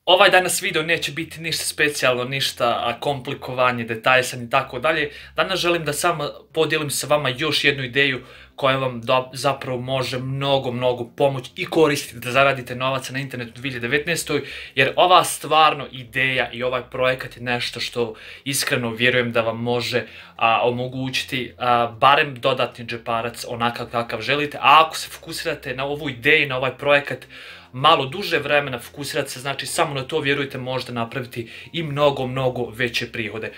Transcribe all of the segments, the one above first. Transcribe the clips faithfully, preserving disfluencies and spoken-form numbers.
Ovaj danas video neće biti ništa specijalno, ništa komplikovanje, detaljsan i tako dalje. Danas želim da samo podijelim sa vama još jednu ideju koja vam zapravo može mnogo, mnogo pomoći i koristiti da zaradite novaca na internetu u dvije hiljade devetnaestoj. Jer ova stvarno ideja i ovaj projekat je nešto što iskreno vjerujem da vam može a, omogućiti a, barem dodatni džeparac onakav kakav želite. A ako se fokusirate na ovu ideju, na ovaj projekat, malo duže vremena fokusirati se, znači samo na to, vjerujte, možete napraviti i mnogo, mnogo veće prihode.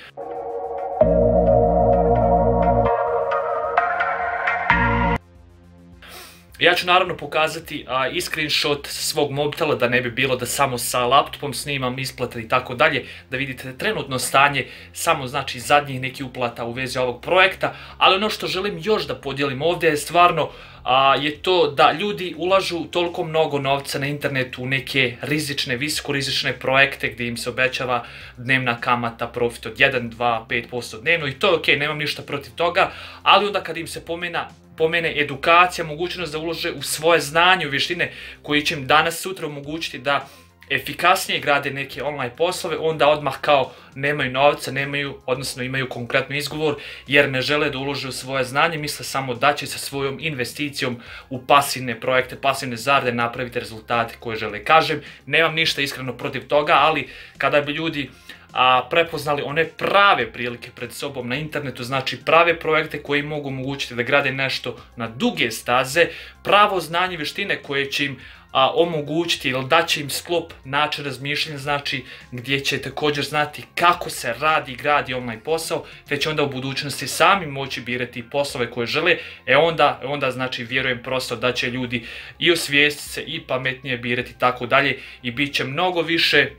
Ja ću naravno pokazati a, i screenshot svog mobitela, da ne bi bilo da samo sa laptopom snimam isplate i tako dalje, da vidite trenutno stanje samo znači zadnjih nekih uplata u vezi ovog projekta. Ali ono što želim još da podijelim ovdje je stvarno a, je to da ljudi ulažu toliko mnogo novca na internetu u neke rizične, visokorizične projekte gdje im se obećava dnevna kamata, profit od jedan, dva, pet posto dnevno, i to je ok, nemam ništa protiv toga, ali onda kad im se pomena pomene edukacija, mogućnost da ulože u svoje znanje, u vještine koji će im danas sutra omogućiti da efikasnije grade neke online poslove, onda odmah kao nemaju novca, nemaju, odnosno imaju konkretno izgovor jer ne žele da ulože u svoje znanje, misle samo da će sa svojom investicijom u pasivne projekte, pasivne zarade napraviti rezultate koje žele. Kažem, nemam ništa iskreno protiv toga, ali kada bi ljudi a prepoznali one prave prilike pred sobom na internetu, znači prave projekte koji mogu omogućiti da grade nešto na duge staze, pravo znanje i vještine koje će im a, omogućiti ili da će im sklop način razmišljanja, znači gdje će također znati kako se radi i gradi online posao, te će onda u budućnosti sami moći birati poslove koje žele, e onda, onda znači vjerujem prosto da će ljudi i osvijestiti se i pametnije birati i tako dalje, i bit će mnogo više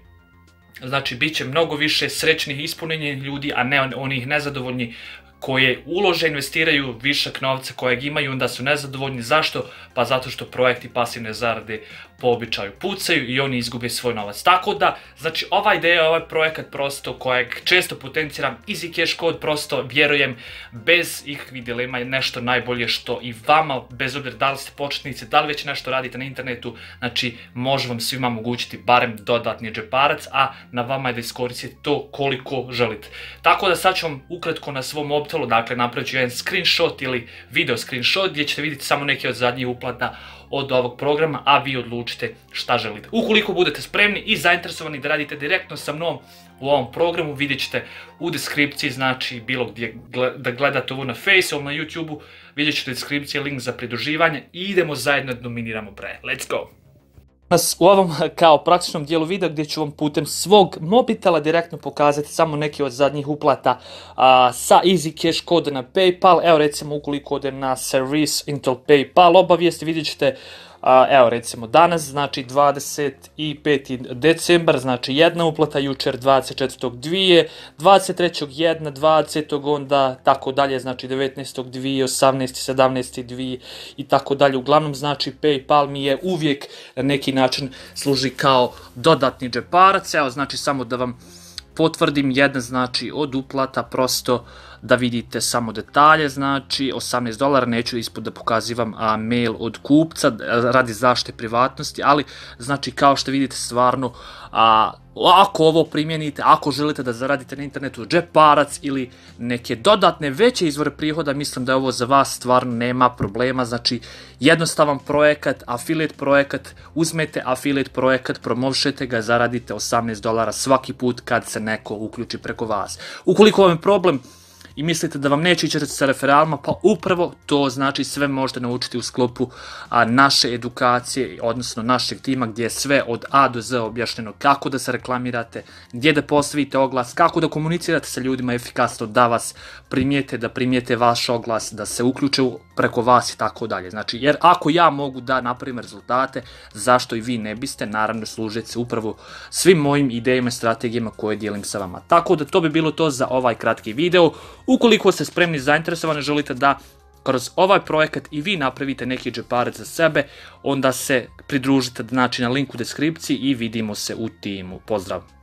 Znači, bit će mnogo više srećnih, ispunjenih ljudi, a ne onih nezadovoljni koje ulože, investiraju višak novca kojeg imaju, onda su nezadovoljni. Zašto? Pa zato što projekti pasivne zarade po običaju pucaju i oni izgube svoj novac. Tako da, znači, ova ideja, ovaj projekat prosto kojeg često potenciram, Easy Cash Code, prosto vjerujem bez ikakvih dilema je nešto najbolje što i vama, bez obzira da li ste početnici, da li već nešto radite na internetu, znači može vam svima omogućiti barem dodatni džeparac, a na vama je da iskoristite to koliko želite. Tako da sad ću vam ukratko na svom mobitelu, dakle napravit ću jedan screenshot ili video screenshot gdje ćete vidjeti samo neke od zadnjih uplata od ovog programa, a vi odlučite šta želite. Ukoliko budete spremni i zainteresovani da radite direktno sa mnom u ovom programu, vidjet ćete u deskripciji, znači bilo gdje da gledate ovo na Face ili na YouTube-u, vidjet ćete u deskripciji link za pridruživanje i idemo zajedno da dominiramo bre. Let's go! U ovom kao praktičnom dijelu videa gdje ću vam putem svog mobitela direktno pokazati samo neke od zadnjih uplata a, sa Easy Cash Code na PayPal. Evo recimo ukoliko odem na Service Intel PayPal obavijesti, vidjet ćete a, evo recimo danas, znači dvadeset peti decembar, znači jedna uplata, jučer dvadeset četvrtog dvije, dvadeset trećeg jedna, dvadesetog onda tako dalje, znači devetnaestog dvije, osamnaestog sedamnaestog dvije i tako dalje. Uglavnom znači PayPal mi je uvijek na neki način služi kao dodatni džeparac. Evo znači samo da vam potvrdim, jedna znači od uplata, prosto da vidite samo detalje, znači osamnaest dolara, neću ispod da pokazivam a, mail od kupca radi zaštite privatnosti, ali znači kao što vidite stvarno a, ako ovo primjenite, ako želite da zaradite na internetu džeparac ili neke dodatne veće izvore prihoda, mislim da je ovo za vas stvarno nema problema. Znači jednostavan projekat, affiliate projekat, uzmete affiliate projekat, promovišete ga, zaradite osamnaest dolara svaki put kad se neko uključi preko vas. Ukoliko vam je problem i mislite da vam neće ići sa referalima, pa upravo to znači sve možete naučiti u sklopu a, naše edukacije, odnosno našeg tima gdje je sve od A do Z objašnjeno, kako da se reklamirate, gdje da postavite oglas, kako da komunicirate sa ljudima efikasno, da vas primijete, da primijete vaš oglas, da se uključe preko vas i tako dalje. Znači, jer ako ja mogu da napravim rezultate, zašto i vi ne biste, naravno služiti se upravo svim mojim idejama i strategijama koje dijelim sa vama. Tako da to bi bilo to za ovaj kratki video. Ukoliko ste spremni i zainteresovani, želite da kroz ovaj projekat i vi napravite neki džeparac za sebe, onda se pridružite znači na linku u deskripciji i vidimo se u timu. Pozdrav!